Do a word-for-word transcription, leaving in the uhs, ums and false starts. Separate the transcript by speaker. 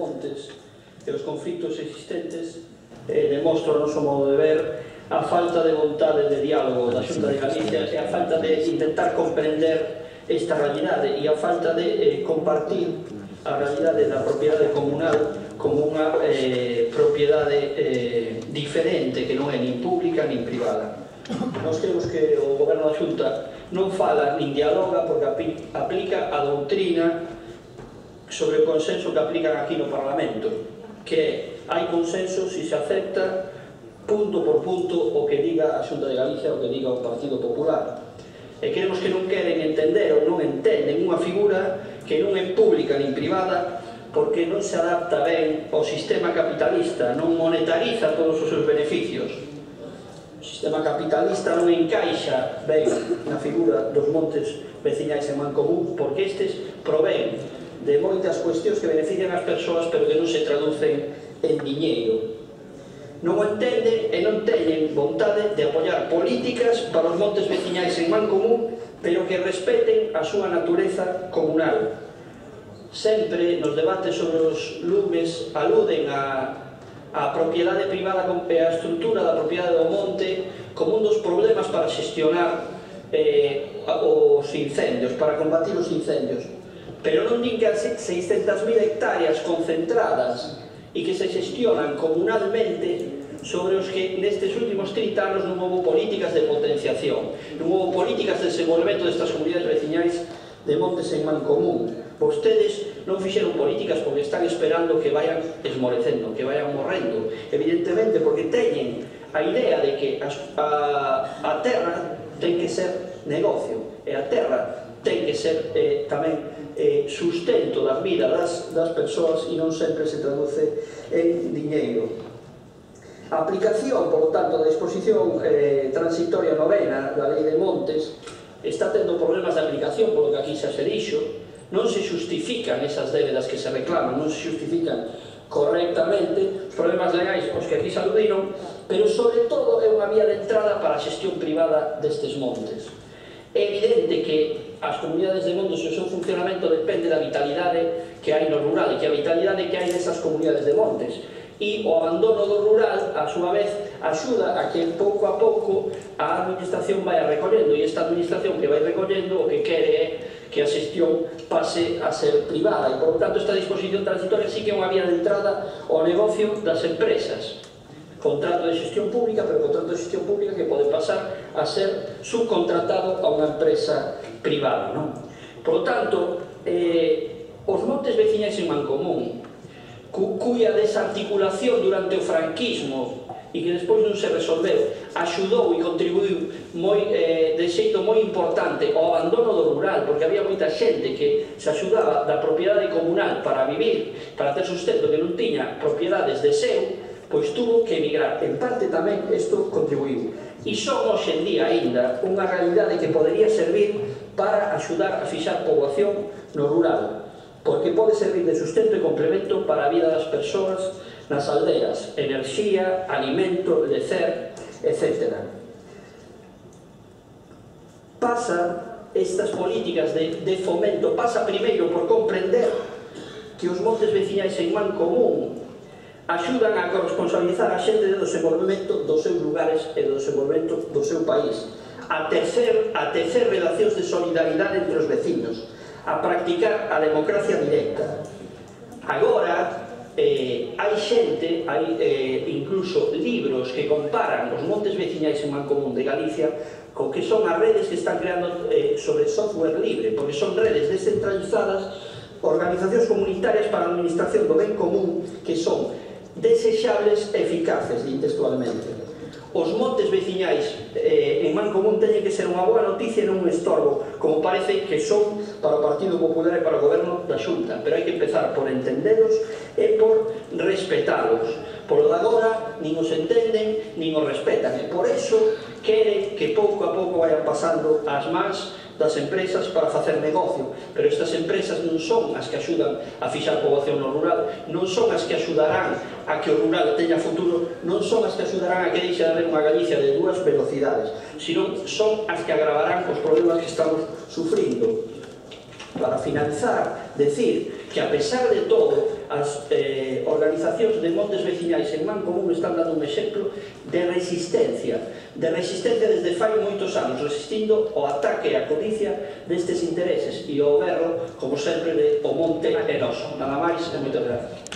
Speaker 1: montes e os conflitos existentes eh, demostra o noso modo de ver a falta de vontade de diálogo da Xunta de Galicia e a falta de intentar comprender esta realidade e a falta de eh, compartir a realidade da propiedade comunal como unha eh, propiedade eh, diferente que non é nin pública nin privada. Nós creemos que o goberno da Xunta non fala nin dialoga porque aplica a doutrina sobre o consenso que aplican aquí no Parlamento, que é, hai consenso se se acepta punto por punto o que diga a Xunta de Galicia, o que diga o Partido Popular. E queremos que non queren entender ou non entenden unha figura que non é pública nin privada porque non se adapta ben ao sistema capitalista, non monetariza todos os seus beneficios. O sistema capitalista non encaixa ben na figura dos montes veciñais en Mancomún porque estes provén de moitas cuestións que benefician as persoas pero que non se traducen en diñeiro. Non o entenden e non teñen vontade de apoiar políticas para os montes veciñais en Mancomún pero que respeten a súa natureza comunal. Sempre nos debates sobre os lumes aluden a a propiedade privada e a estrutura da propiedade do monte como un dos problemas para xestionar eh, os incendios, para combatir os incendios. Pero non din que as seiscentas mil hectáreas concentradas e que se xestionan comunalmente sobre os que nestes últimos trinta anos non houve políticas de potenciación, non houve políticas de desenvolvemento destas comunidades veciñais de montes en Mancomún. Vostedes non fixeron políticas porque están esperando que vayan esmorecendo, que vayan morrendo, evidentemente porque teñen a idea de que a, a terra ten que ser negocio e a terra ten que ser eh, tamén eh, sustento da vida das, das persoas e non sempre se traduce en diñeiro. A aplicación, por lo tanto, da disposición eh, transitoria novena da Lei de Montes está tendo problemas de aplicación, polo que aquí xa se dixo, non se justifican esas débedas que se reclaman, non se justifican correctamente os problemas legais os que aquí se aludiron, pero sobre todo é unha vía de entrada para a xestión privada destes montes. É evidente que as comunidades de montes e o seu funcionamento depende da vitalidade que hai no rural e que a vitalidade que hai nesas comunidades de montes. E o abandono do rural, a súa vez, axuda a que pouco a pouco a administración vai recollendo e esta administración que vai recollendo o que quere é que a xestión pase a ser privada e, por tanto, esta disposición transitoria sí que é unha vía de entrada ao negocio das empresas. Contrato de xestión pública, pero contrato de xestión pública que pode pasar a ser subcontratado a unha empresa privada, non? Por tanto, eh, os montes veciñais en Mancomún, cu, cuya desarticulación durante o franquismo e que despois non se resolveu, axudou e contribuiu moi, eh, de xeito moi importante ao abandono do rural, porque había moita xente que se axudaba da propiedade comunal para vivir, para ter sustento, que non tiña propiedades de seu, pois tuvo que emigrar. En parte tamén isto contribuiu. E son hoxe en día aínda unha realidade que podería servir para axudar a fixar poboación no rural, porque pode servir de sustento e complemento para a vida das persoas nas aldeas, enerxía, alimento, lecer, etcétera. Pasa estas políticas de, de fomento, pasa primeiro por comprender que os montes veciñais en Mancomún axudan a corresponsabilizar a xente do desenvolvemento dos seus lugares e do desenvolvemento do seu país, a tecer, a tecer relacións de solidaridade entre os veciños, a practicar a democracia directa. Agora, eh, hai xente, hai eh, incluso libros que comparan os montes veciñais en Mancomún de Galicia con que son as redes que están creando eh, sobre software libre, porque son redes descentralizadas, organizacións comunitarias para a administración do ben común que son desexables e eficaces, din textualmente. Os montes veciñais eh, en Mancomún teñen que ser unha boa noticia e non un estorbo, como parece que son para o Partido Popular e para o Goberno da Xunta, pero hai que empezar por entendelos e por respetalos. Polo de agora, nin os entenden, nin os respetan, e por iso queren que pouco a pouco vayan pasando as mans das empresas para facer negocio, pero estas empresas non son as que axudan a fixar poboación no rural, non son as que axudarán a que o rural teña futuro, non son as que axudarán a que deixe de haber unha Galicia de dúas velocidades, sino son as que agravarán os problemas que estamos sufrindo. Para finalizar, decir que a pesar de todo, as, eh, organizacións de montes veciñais en Mancomún están dando un exemplo de resistencia, de resistencia desde fai moitos anos, resistindo o ataque e a codicia destes intereses e o berro, como sempre, de o monte é noso. Nada máis e moitas gracias.